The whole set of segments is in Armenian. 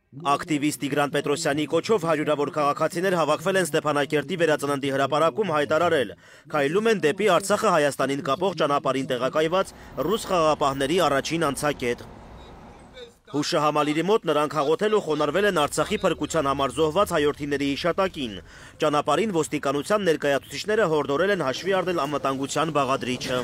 Ակտիվիստ Տիգրան Պետրոսյանի կոչով հարյուրավոր քաղաքացիներ հավաքվել են Ստեփանակերտի վերածննդի հրապարակում հայտարարել. քայլում են դեպի Արցախը Հայաստանին կապող ճանապարհին տեղակայված ռուս խաղաղապահների առաջին անցակետ։ Հուշահամալիրի մոտ նրանք հաղորդել ու խոնարհվել են Արցախի փրկության համար զոհված հայրենիների հիշատակին։ Ճանապարհին ոստիկանության ներկայացուցիչները հորդորել են հաշվի առնել անվտանգության բաղադրիչը։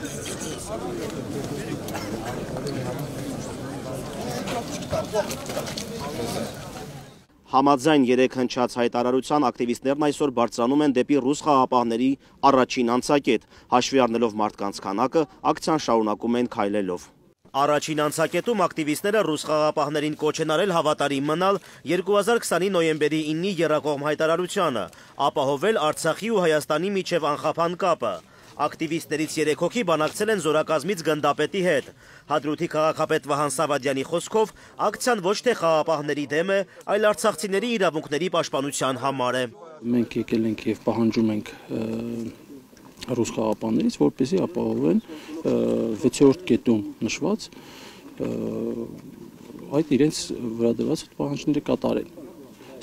Համաձայն 3 հնչած հայտարարության ակտիվիստներն այսօր բարձրանում են դեպի ռուս խաղաղապահների առաջին անցակետ, հաշվի առնելով մարդկանց քանակը, ակցիան շարունակում են քայլելով։ Առաջին անցակետում ակտիվիստները ռուս խաղաղապահներին կոչ են արել հավատարիմ մնալ 2020-ի նոյեմբերի 9-ի եռակողմ հայտարարությանը, ապահովել Արցախի ու Հայաստանի միջև անխափան կապը։ Ակտիվիստներից 3 հոգի բանակցել են զորակազմից գնդապետի հետ։ Հադրութի քաղաքապետ Վահան Սավադյանի խոսքով ակցիան ոչ թե խաղաղապահների դեմ է, այլ արցախցիների իրավունքների պաշտպանության համար է։ Մենք եկել ենք եւ պահանջում ենք ռուս խաղաղապահներից, որպեսզի ապահովեն 6-րդ կետում նշված այդ իրենց վրա դրված պահանջները կատարեն։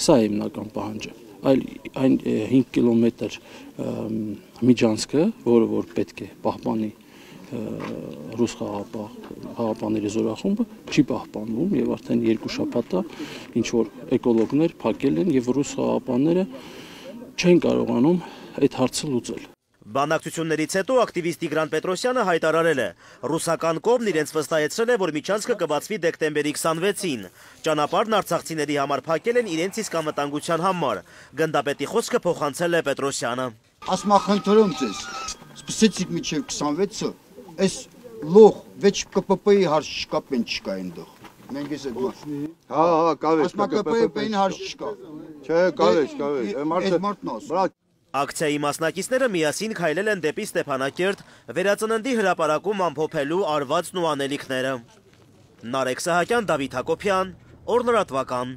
Սա է հիմնական պահանջը։ Այլ այն 5 կիլոմետր միջանցքը, որը որ պետք է պահպանի ռուս խաղաղապահների զորախումբը, չի պահպանվում եւ արդեն 2 շաբաթ է ինչ որ էկոլոգներ փակել են եւ ռուս խաղաղապահները չեն կարողանում այդ հարցը լուծել։ Բանակցություններից հետո ակտիվիստ Տիգրան Պետրոսյանը հայտարարել է. ռուսական կողմն իրենց վստահեցրել է, որ միջանցքը կբացվի դեկտեմբերի 26-ին։ Ճանապարհն արցախցիների համար փակել են իրենց իսկ անվտանգության համար։ Գնդապետի խոսքը փոխանցել է Պետրոսյանը։ Ասմախնդրում ձեզ, սպասեցիք մինչև 26-ը, այս լող 6 ԿՊՊ-ի հարց չկա, պեն չկա այնտեղ։ Մենք ես այդ Հա, կավեջ, ԿՊՊ-ի հարց չկա։ Չէ, կավեջ, Ակցիայի մասնակիցները միասին քայլել են դեպի Ստեփանակերտ վերածննդի հրապարակում ամփոփելու արվածն ու անելիքները։ Նարեկ Սահակյան, Դավիթ Հակոբյան, Օր լրատվական։